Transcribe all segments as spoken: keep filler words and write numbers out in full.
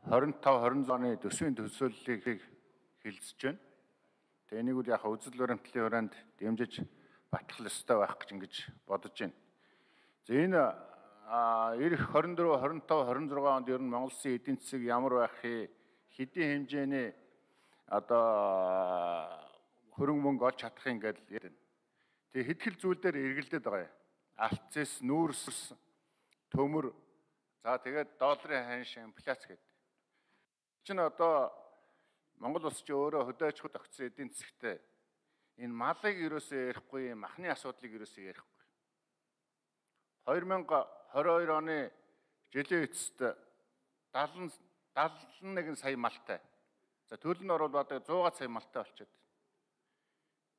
двадцать пять двадцать шесть оны төсвийн төсөөллийг хэлэлцэж байна. Тэгээ энийг үл яг үзэл баримтлалын хүрээнд дэмжиж батлах ёстой байх гэж ингэж бодож байна. За энэ эх двадцать четыре, двадцать пять, двадцать шесть онд ер нь Монгол Улсын эдийн засаг ямар байх хэдийн хэмжээний одоо хөрөнгө мөнгө олж чадах юм гээд ярина. Тэгээ хэд хэл зүйл дээр эргэлдээд байгаа юм. Алтцэс, нүүрс, төмөр, за тэгээд долларын ханш, инфляц гэдэг. Чинь одоо Монгол улс чи өөрөө хөдөө аж ахуй тогтсон эдийн засагтай энэ малыг ерөөсөө ярихгүй, махны асуудлыг ерөөсөө ярихгүй. две тысячи двадцать two оны жилийн эцэст seventy seventy-one сая малтай. За төлөв нь орвол одоо one hundred сая малтай болчиход.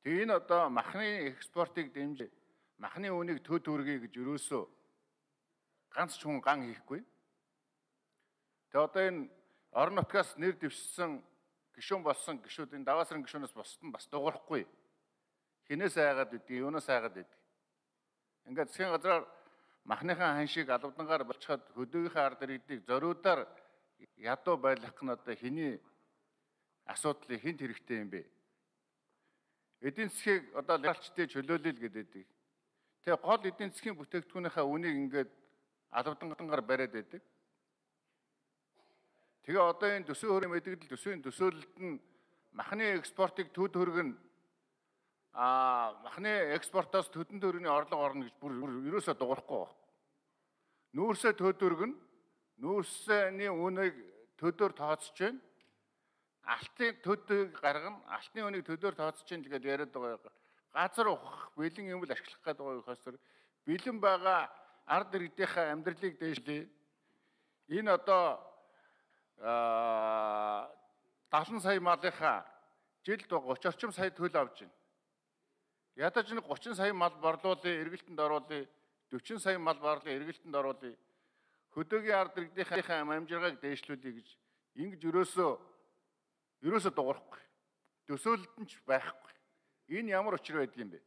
Тэгээ энэ одоо махны экспортыг дэмжиж махны үнийг төд үргэе гэж ерөөсөө ганц ч хүн ган хийхгүй. Тэгээ одоо энэ орон нутгаас нэр дэвшсэн гишүүн болсон гишүүдийн даваасрын гишүүнээс босд нь бас дуурахгүй. Хинээс айгаад идэг, юунаас айгаад идэг. Ингээд засгийн газраар махныхаа ханшийг албадангаар болчиход хөдөөгийнхээ ард иргэдийг зориудаар ядуу байлгах нь одоо хэний асуудлыг хинт хэрэгтэй юм бэ? Эдийн засгийг одоо либералчдын чөлөөлөл гэдэг. Тэгээ гол эдийн засгийн бүтээгдэхүүнийхээ үнийг ингээд албадангаар бариад байдаг. Тэгээ одоо энэ төсвийн хөрөнгө мэдээлэл төсвийн төсөөлөлд нь махны экспортыг төд хөргөн а махны экспортоос төдөн төрөний орлого орно гэж бүр ерөөсөө дуурахгүй байна. Нүүрсээ төд хөргөн, нүүрсний үнийг төдөр тооцож байна. Алтын төдийг гаргана, алтын үнийг төдөр тооцож байна гэдээ яриад байгаа. Газар ухах, бэлэн юм л ашиглах гэдэг байгаа хөөсөр бэлэн байгаа ард иргэдийнхээ амьдралыг дээшлээ. Энэ одоо seventy сая малынхаа жилд thirty орчим сая төл авж байна. Ядаж нэг thirty сая мал борлуулъя, эргэлтэнд оруулъя, forty сая мал борлуулъя, эргэлтэнд оруулъя. Хөдөөгийн ард иргэдийнхээ амжиргааг дээшлүүлье гэж ингэж ерөөсөө ерөөсөө дуурахгүй. Төсөөлөлд нь ч байхгүй. Энэ ямар учир байдг юм бэ?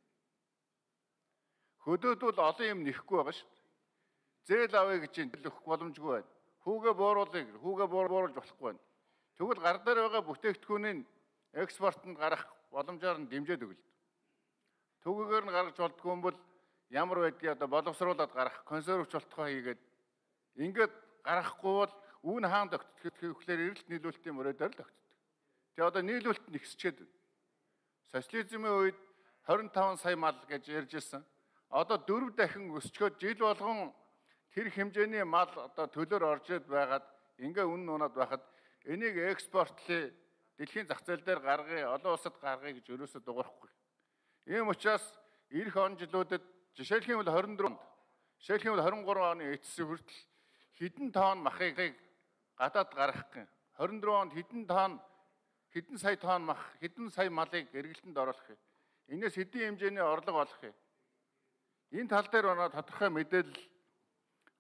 Хөдөөд бол олон юм нэхгүй байгаа шүү дээ. Зээл авъя гэж хэлэх боломжгүй байна. Хүүгээ бууруулъя, хүүгээ бууруулж болохгүй байна. Тэгвэл гар дээр байгаа бүтээгдэхүүнийг экспортод гарах боломжоор нь дэмжиж өгөл. Төгөөгөр нь гаргаж болдгүй юм бол ямар байдгийг одоо боловсруулад гарах, консервч болтгоо хийгээд ингээд гаргахгүй бол үүн хаан тогтдох гэхээр эрэлт нийлүүлэлтийн мөрөөдөр л тогтдог. Тэгээ одоо нийлүүлэлт нь ихсчээд байна. Социализмын үед twenty-five сая мал гэж ярьж ирсэн. Одоо four дахин өсчөөд жил болгон тэр хэмжээний мал одоо төлөөр орж ирээд байгаад ингээ үнэн унаад байхад энийг экспортлээ дэлхийн зах зээл дээр гаргая, олон улсад гаргая гэж ерөөсөө дуурахгүй. Ийм учраас эх он жилүүдэд жишээлх юм бол twenty-four онд, жишээлх юм бол twenty-three оны эцсийн хүртэл хэдэн тонн махыг гадаад гаргах гэн. twenty-four онд хэдэн тонн, хэдэн сая тонн мах, хэдэн сая малыг эргэлтэнд оруулах юм. Энээс хэдийн хэмжээний орлого олох юм. Энэ тал дээр оноо тодорхой мэдээлэл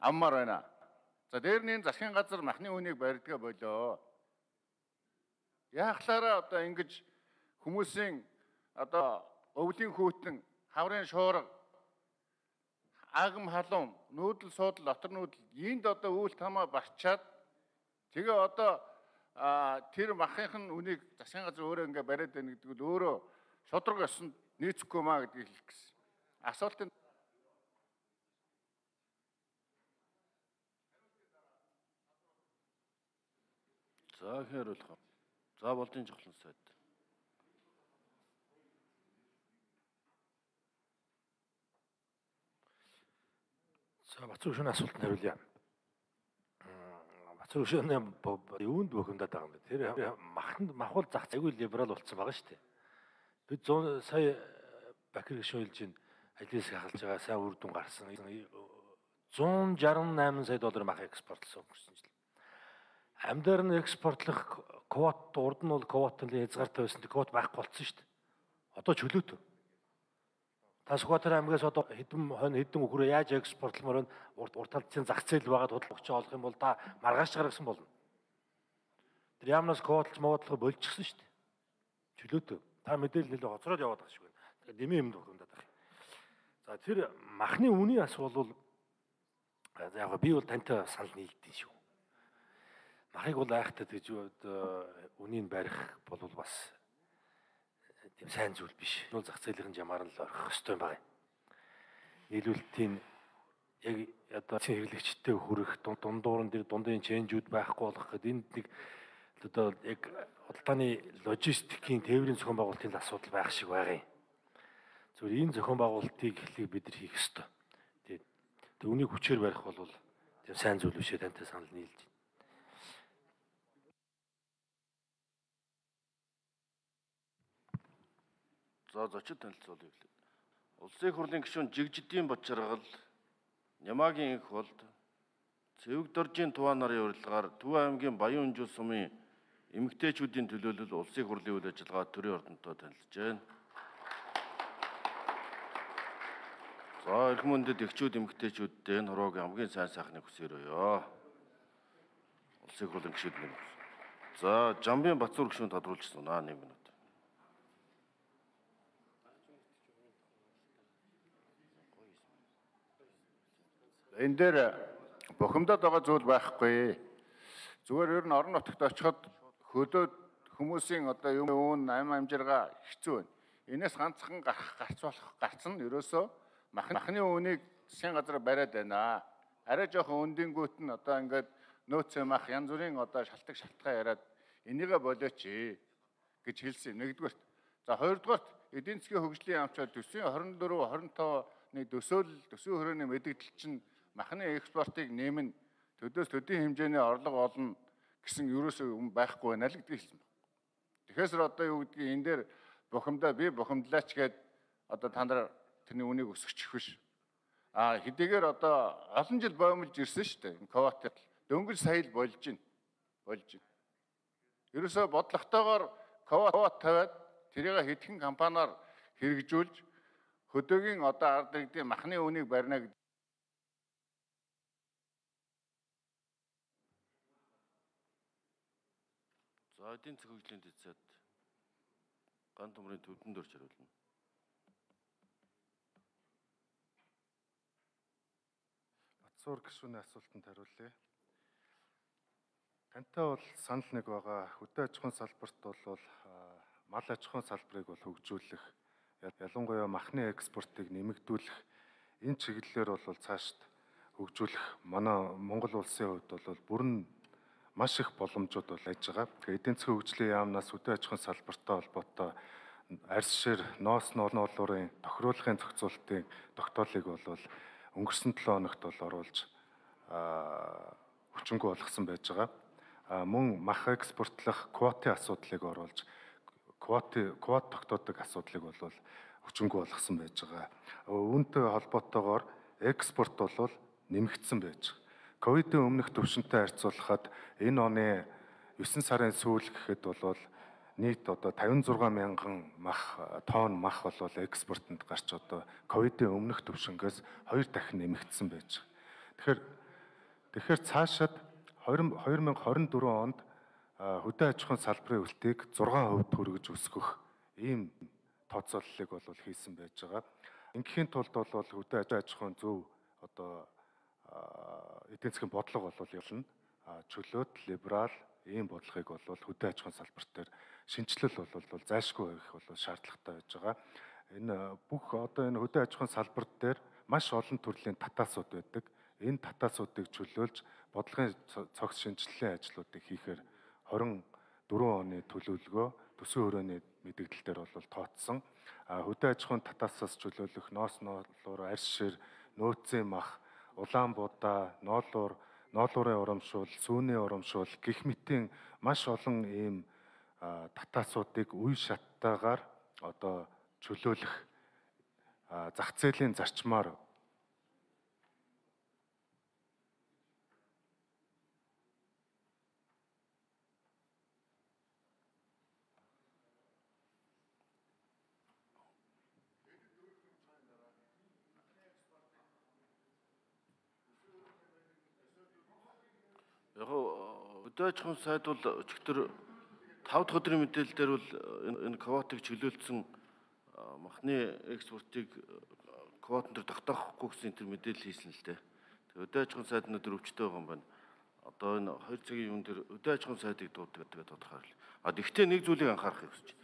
аммаар байна. За дээр нь засгийн газар махны үнийг барьдгаа болоо. Яахлаараа одоо ингэж хүмүүсийн одоо өвлийн хүүтэн, хаврын шуурга, агам халуун, нүүдэл суудал, дотор нүүдэл энд одоо үйл тамаа барчаад тэгээ одоо тэр махын үнийг засгийн газар өөрөө ингээ бариад байна гэдэг нь өөрөө шудраг ёсонд нийцэхгүй маа гэдгийг хэлэх гэсэн. Асуултын За хэрэрлэх. За болдын жохлон сайд. За Бацар хөшөөний асуултанд хариулъя. Бацар хөшөөний юунд бөхөндөөд байгаа юм бэ? Тэр маханд махвал зах зээгүй либерал болсон байгаа шүү дээ. Бид one hundred сая Бакир гишүүн хэлж байна. Ажлын хэсэг хахалж байгаа сайн үр дүн гарсан. one hundred sixty-eight сая доллар мах экспортлсон өнгөрсөн жил. Амьдаар нь экспортлох квот урд нь бол квотын хязгаартай байсан. Квот байхгүй болсон шүү дээ. Одоо чөлөөтэй. Та Сүхбаатар аймгаас одоо хэдэн хонь хэдэн өхрөө яаж экспортлмоор байна? Урд урд талцын зах зээл байгаад хөдөлгөгч олох юм бол та маргааш гаргасан болно. Тэр яамнаас квотлж моодлох болчихсон шүү дээ. Чөлөөтэй. Та мэдээлэл нэлээд хоцроод яваад байгаа шиг байна. Тэгэхээр нэмээ юмд өгөндөд байгаа. За тэр махны үнийн асуул бол яг би бол тантай санал нийлдэв шүү. махыг бол айхтаа гэж үнийг барих бол бас тийм сайн зүйл биш. Нүүл зах зээлийн жамаар л орох ёстой байгаа юм. Нийлүүлэлтийн яг одоо хэрэглэгчтэй хүрэх дундуур дээр дундын ченжүүд байхгүй болох гэдэг энд нэг одоо яг худалдааны логистикийн тээврийн зохион байгуулалтын асуудал байх шиг байгаа юм. Зөвхөн энэ зохион байгуулалтыг хэлийг бид нар хийх ёстой. Тэгээд үүнийг хүчээр барих бол тийм сайн зүйл бишээ тантай санал нийлж байна. За зочид танилцуулъя гэлээ. Улсын их хурлын гишүүн Жигжидийн Бочаргал, Нямаагийн их болд, Цэвэг Доржийн Туваа нарын урилгаар Төв аймгийн Баян Өнжил сумын эмэгтэйчүүдийн төлөөлөл улсын их хурлын үйл ажиллагаа төрийн ордонтой танилцж байна. За эрх мөндөд эхчүүд эмэгтэйчүүдтэй энэ хорвоогийн хамгийн сайн сайхныг хүсээрөөё. Улсын их хурлын гишүүд нэг. За Жамбын Бацуур гишүүн тодруулж сунаа нэг минут. Энэ дээр бухимдаад байгаа зүйл байхгүй. Зүгээр ер нь орон нутагт очиход хөлөөд хүмүүсийн одоо юм уун ам амжиргаа хэцүү байна. Энээс ганцхан гарах гарц болох гарц нь ерөөсөө махны үүнийг засгийн газар бариад байна. Арай жоохон өндөнгүүт нь одоо ингээд нөөцөө мах янз бүрийн одоо шалтгаан шалтгаан яриад энийгээ болооч гэж хэлсэн. Нэгдүгээрт. За хоёрдугаарт эдийн засгийн хөгжлийн яамчаар төсвийн хорин дөрөв хорин тавны төсөөлөл төсвийн хүрээний мэдээлэл чинь махны экспортыг нэмэн төдөөс төдийн хэмжээний орлого олно гэсэн ерөөсөө юм байхгүй байна л гэдгийг хэлсэн байна. Тэгэхээр одоо юу гэдгийг энэ дээр бухимдаа би бухимдлаач гээд одоо та нар тэрний үнийг өсгөчих биш. А хэдийгээр одоо олон жил боомлж ирсэн шүү дээ. Энэ квота дөнгөж сая л болж байна. Болж байна. Ерөөсөө бодлоготойгоор квота тавиад тэрийг хэдхэн компаниар хэрэгжүүлж хөдөөгийн одоо ард иргэдийн махны үнийг барина гэдэг. За эдийн засгийн хөгжлийн дэцэд ган төмрийн төвдөн дөрж хариулна. Бацуур гишүүний асуултанд хариулъя. Тантай бол санал нэг байгаа. Хөдөө аж ахуйн салбарт бол мал аж ахуйн салбарыг бол хөгжүүлэх, ялангуяа махны экспортыг нэмэгдүүлэх энэ чиглэлээр бол цаашд хөгжүүлэх манай Монгол улсын хувьд бол бүрэн маш их боломжууд бол аж байгаа. Тэгээд эдийн засгийн хөгжлийн яамнаас хөдөө аж ахуйн салбартай холбоотой арьс шир, ноос ноолуурын тохируулахын зохицуултын тогтоолыг бол өнгөрсөн долоо хоногт бол оруулж хүчингү болгосон байж байгаа. Мөн мах экспортлох квотын асуудлыг оруулж квот квот тогтоодог асуудлыг бол хүчингү болгосон байж байгаа. Үүнтэй холбоотойгоор экспорт бол нэмэгдсэн байж байгаа. Ковидын өмнөх түвшинтэй харьцуулахад энэ оны есөн сарын сүүл гэхэд бол нийт одоо тавин зургаан мянган мах тонн мах бол экспортод гарч одоо ковидын өмнөх түвшингээс хоёр дахин нэмэгдсэн байж байгаа. Тэгэхээр тэгэхээр цаашид две тысячи двадцать четыре онд хөдөө аж ахуйн салбарын үлтэйг зургаан хувьд хүргэж өсгөх ийм тооцооллыг бол хийсэн байж байгаа. Ингээхийн тулд бол хөдөө аж ахуйн зөв одоо эдийн засгийн бодлого бол ялна. Чөлөөт, либерал ийм бодлогыг бол хөдөө аж ахуйн салбарт дээр шинжилэл бол зайлшгүй байх бол шаардлагатай байж байгаа. Энэ бүх одоо энэ хөдөө аж ахуйн салбарт дээр маш олон төрлийн татаасууд байдаг. Энэ татаасуудыг чөлөөлж бодлогын цогц шинжилгээний ажлуудыг хийхээр двадцать четыре оны төлөвлөгөө төсвийн хүрээний мэдээлэл дээр бол тооцсон. Хөдөө аж ахуйн татаасаас чөлөөлөх ноос ноолуур, арьс шир, нөөцийн мах, улаан будаа, ноолуур, ноолуурын урамшуул, сүүний урамшуул гэх мэтийн маш олон ийм татаасуудыг үе шаттайгаар одоо чөлөөлөх зах зээлийн зарчмаар Яг хөдөө аж ахуйн сайд бол өчигдөр тав дахь өдрийн мэдээлэлээр бол энэ квотыг чөлөөлсөн махны экспортыг квотон дээр тогтоохгүй гэсэн тэр мэдээлэл хийсэн л дээ. Тэгээд хөдөө аж ахуйн сайд өнөөдөр өвчтөй байгаа юм байна. одоо энэ хоёр цагийн юун дээр өдөө аж ахуйн сайдыг дууддаг гэдэг тодорхойлол. А тэгвэл нэг зүйлийг анхаарахыг хүсэж байна.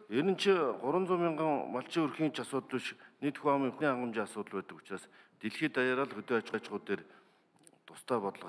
Энэ нь чи гуранзуй мянган малчин өрхийн ч асуудал биш, нийт хүн амын хангамжийн асуудал байдаг учраас дэлхийд даяараа л өдөө аж ахуй дээр тусдаа бодлого